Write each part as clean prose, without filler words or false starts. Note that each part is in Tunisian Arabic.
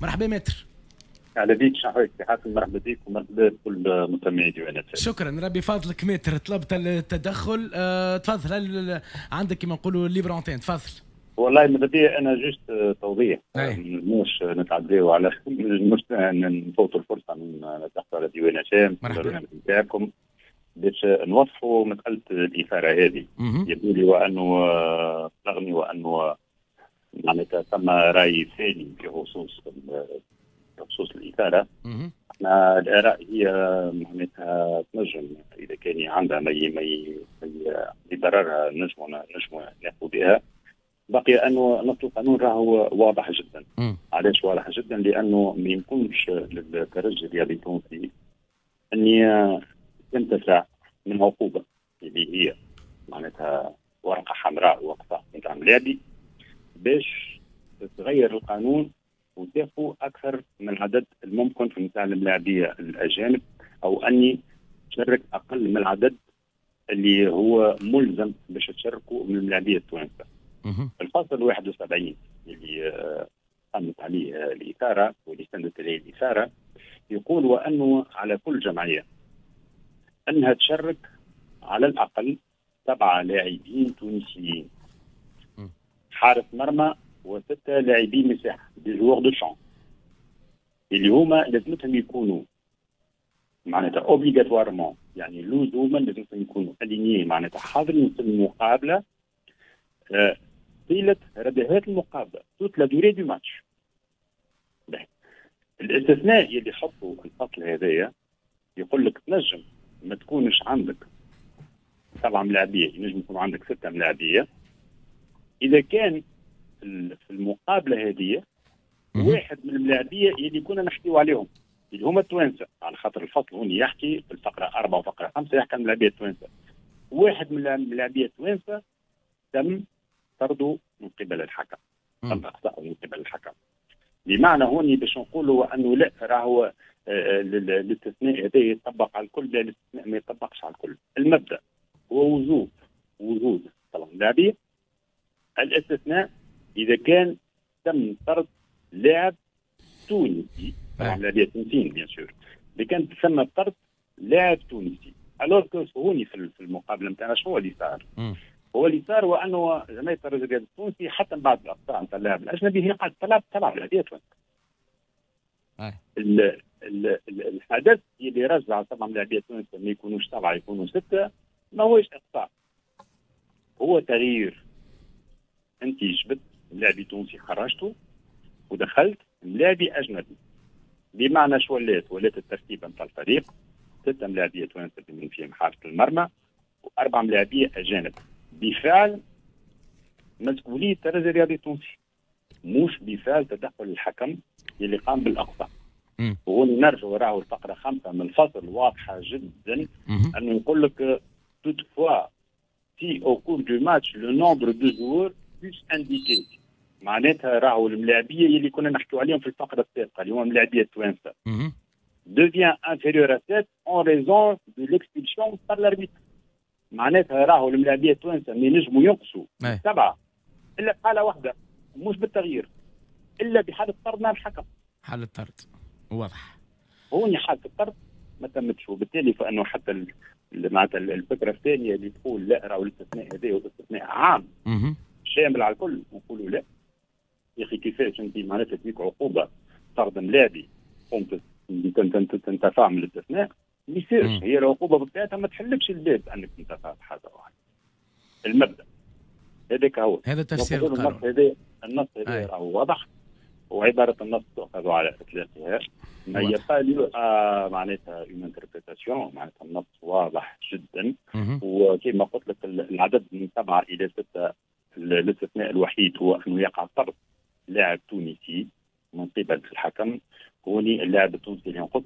مرحبا maître. اهلا بك، شحوالك سي حاتم؟ مرحبا بك ومرحبا بكل مستمعي ديوان. شكرا، ربي فضلك maître. طلبت التدخل، تفضل، هل عندك كما نقولوا libre antenne؟ تفضل. والله ماذا بيا انا juste توضيح، مش نتعداو على مش نفوتوا الفرصة نتحدثوا على ديوان هشام. مرحبا. نتاعكم باش نوضحوا مسالة الاثارة هذه. يبدو لي وانه رغم وانه معناتها ثم راي ثاني في خصوص الاثاره، احنا الاراء هي معناتها تنجم اذا كان عندها ما يبررها نجموا ناخذ بها. بقي انه نص القانون راهو واضح جدا. علاش واضح جدا؟ لانه ما يمكنش للترجي الرياضي التونسي ان ينتفع من عقوبه اللي هي معناتها ورقة حمراء واقصاء نتاع ملاعبي باش تغير القانون وتاخذ اكثر من العدد الممكن في نتاع الملاعبيه الاجانب، او اني تشارك اقل من العدد اللي هو ملزم باش تشاركوا من الملاعبيه التوانسه. الفصل 71 اللي قامت عليه الاثارة واللي استندت اليه الاثارة يقول وانه على كل جمعية انها تشارك على الاقل سبعة لاعبين تونسيين، حارس مرمى وستة لاعبين مساحه، des joueurs de champ، اللي هما لازمتهم يكونوا معناتها obligatoirement، يعني لزوما لازمتهم يكونوا alignés، معناتها حاضرين في المقابلة طيلة ردهات المقابله، toute la durée du match. الاستثناء اللي حطوا الفصل هذايا يقول لك تنجم ما تكونش عندك سبعة ملاعبيه، ينجم يكون عندك ستة ملاعبيه اذا كان في المقابلة هذه واحد من الملاعبيه اللي كنا نحكيو عليهم اللي هما التوانسه، على خاطر الفصل هون يحكي في الفقرة 4 وفقره 5 يحكي عن الملاعبيه التوانسه. واحد من الملاعبيه التوانسة تم طرده من قبل الحكم، تم اقصائه من قبل الحكم. بمعنى هوني باش نقولوا انه لا راهو الاستثناء هذا يطبق على الكل، لا، الاستثناء ما يطبقش على الكل. المبدا هو وجوب وجود طبعا لاعبين، الاستثناء اذا كان تم طرد لاعب تونسي، طبعا لاعبيه تونسيين bien sûr، اذا كان ثم طرد لاعب تونسي. alors que هوني في المقابلة نتاعنا شنو اللي صار؟ هو اللي صار هو انه جمعية الترجي الرياضي التونسي حتى من بعد الاقصاء نتاع اللاعب الاجنبي هي قاعدة تلعب لاعبيه تونس. الحدث اللي رجع طبعا لاعبيه تونس ما يكونوش سبعة يكونوا سته ما هوش اقصاء، هو تغيير. انت جبت لاعبي تونسي خرجته ودخلت لاعبي اجنبي، بمعنى شو ولات؟ ولات الترتيب نتاع الفريق ستة ملاعبيه توانسة بمن فيهم حارس المرمى واربع ملاعبيه اجانب، بفعل مسؤولية الترجي الرياضي التونسي مش بفعل تدخل الحكم اللي قام بالاقصاء. وهون نرجع راهو الفقرة 5 من الفصل واضحة جدا، انه يقول لك toutefois si au cours du match le nombre de joueurs sus-indiqué، معناتها راهو الملاعبيه اللي كنا نحكيو عليهم في الفقرة السابقة اللي هما الملاعبيه التوانسة devient inférieur à 7 en raison de l'expulsion par l'arbitre. معناتها راهو الملاعبيه التوانسة ما ينجموا ينقصوا سبعة الا في حاله واحده، مش بالتغيير، الا بحاله طرد مع الحكم. حاله طرد، واضح. هوني حاله الطرد ما تمتش، وبالتالي فانه حتى معناتها الفكرة الثانية اللي تقول لا راهو الاستثناء هذا هو استثناء عام شامل على الكل، نقولوا لا يا اخي، كيفاش انت معناتها تجيك عقوبه طرد ملاعبي قمت تنتفع من الاستثناء؟ ما يصيرش. هي العقوبة بطبيعتها ما تحلكش الباب انك تنتفع بحاجة واحده. المبدا هذاك هو. هذا تفسير القانون. النص هذا راهو واضح، وعبارة النص تؤخذ على اطلاقها، mais il y a pas lieu معناتها une interprétation. معناتها النص واضح جدا، وكما قلت لك العدد من 7 الى 6، الاستثناء الوحيد هو انه يقع طرد لاعب تونسي من قبل الحكم. هوني اللاعب التونسي اللي ينقص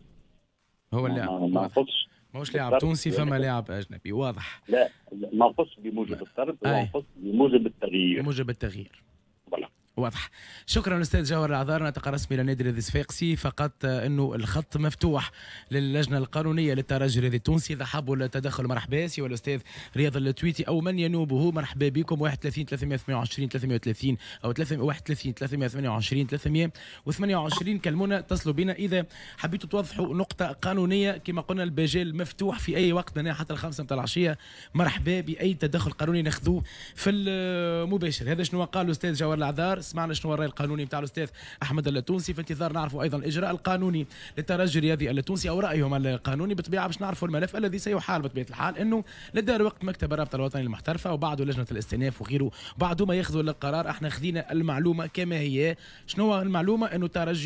هو اللاعب ما نقصش. ماهوش لاعب تونسي، فما لاعب اجنبي، واضح. لا، ما نقص بموجب الطرد، هو نقص بموجب التغيير. بموجب التغيير. voilà. واضح. شكرا الاستاذ جوهر العذار، ناطق رسمي للنادي الرياضي الصفاقسي. فقط انه الخط مفتوح للجنة القانونية للترجي الرياضي التونسي، اذا حابوا التدخل مرحبا، سواء الاستاذ رياض التويتي او من ينوبه، مرحبا بكم. 31 328 330 او 31 328 328، كلمونا، اتصلوا بنا اذا حبيتوا توضحوا نقطة قانونيه. كما قلنا المجال مفتوح في اي وقت من حتى 5 متاع العشيه، مرحبا باي تدخل قانوني ناخذوه في المباشر. هذا شنو قال الاستاذ جوهر العذار، سمعنا شنو الراي القانوني نتاع الاستاذ احمد التونسي، في انتظار نعرفوا ايضا الاجراء القانوني للترجي الرياضي التونسي او رايهم القانوني بالطبيعه، باش نعرفوا الملف الذي سيحال بطبيعة الحال انه لدى وقت مكتب الرابطة الوطني المحترفه وبعده لجنة الاستئناف وغيره، بعده ما ياخذوا القرار. احنا خذينا المعلومة كما هي. شنو المعلومه؟ انه الترجي